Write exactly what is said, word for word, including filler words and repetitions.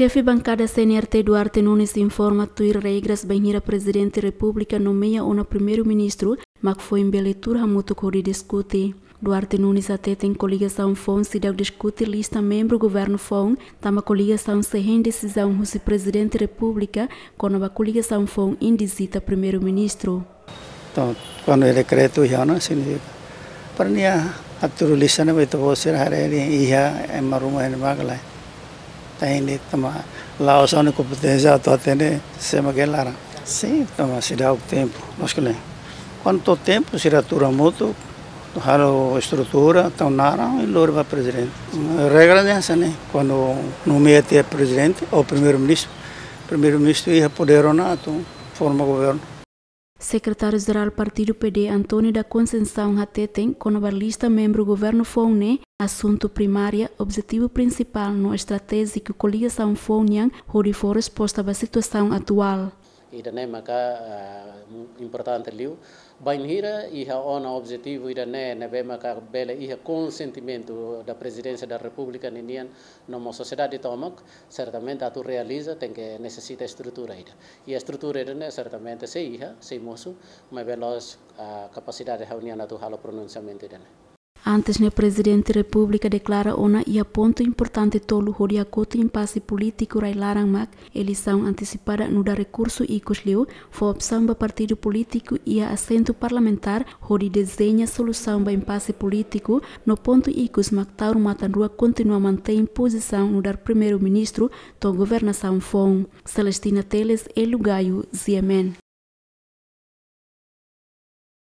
Xefe Bankada C N R T Duarte Nunes informa tuir regras bainhira Prezidente Repúblika nomeia ona Primeiru-Ministru, mak foin bele tuur hamutuk hodi diskute. Duarte Nunes hateten koligasaun foun seidauk diskute lista membru governu foun, tanba koligasaun sei hein desizaun husi Prezidente Repúblika kona-ba koligasaun foun indizita Primeiru-Ministru. Entaun, kuandu iha dekretu iha ona, signifika para nia atu lista ne'ebé ita-boot sira haree iha ema ruma iha ne'ebá ka lae. Ita hatene tanba la'ós ha'u-nia kompeténsia atu hatene sé mak iha laran. Sin, tanba seidauk tempu, mas ke le. Kuandu to'o tempu sira tuur hamutuk, halo estrutura, tau naran i lori ba Prezidente. Regra ne'e hanesan ne'e, kuandu nomeia tiha Prezidente ou Primeiru-Ministru, Primeiru-Ministru iha podér ona atu forma governu. Sekretáriu-Jerál Partidu P D, António da Conceição hateten kona-ba lista membru governu foun ne'e asuntu primária, objetivu prinsipál no estratéjiku koligasaun foun nian hodi fó resposta ba situasaun atuál. Ida-ne'e maka, ah, importante liu. Bainhira iha ona objetivu ida-ne'e ne'ebé maka bele iha konsentimentu da Prezidénsia da Repúblika ninian no mós sosiedade tomak, sertamente atu realiza tenke nesesita estrutura ida. I estrutura ida-ne'e sertamente sei iha, sei mosu, maibé la'ós, ah, kapasidade ha'u-nian atu halo pronunsiamentu ida-ne'e. Antes ne'e Prezidente Repúblika deklara ona iha pontu importante tolu hodi hakotu impase polítiku rai-laran mak eleisaun antesipada nu'udar rekursu ikus liu, fó opsaun ba partidu polítiku iha asentu parlamentár hodi dezeña solusaun ba impase polítiku, no pontu ikus mak Taur Matan Ruak kontinua mantein pozisaun nu'udar Primeiru-Ministru to'o governasaun foun. Celestina Teles, Elu Gayo, G M N.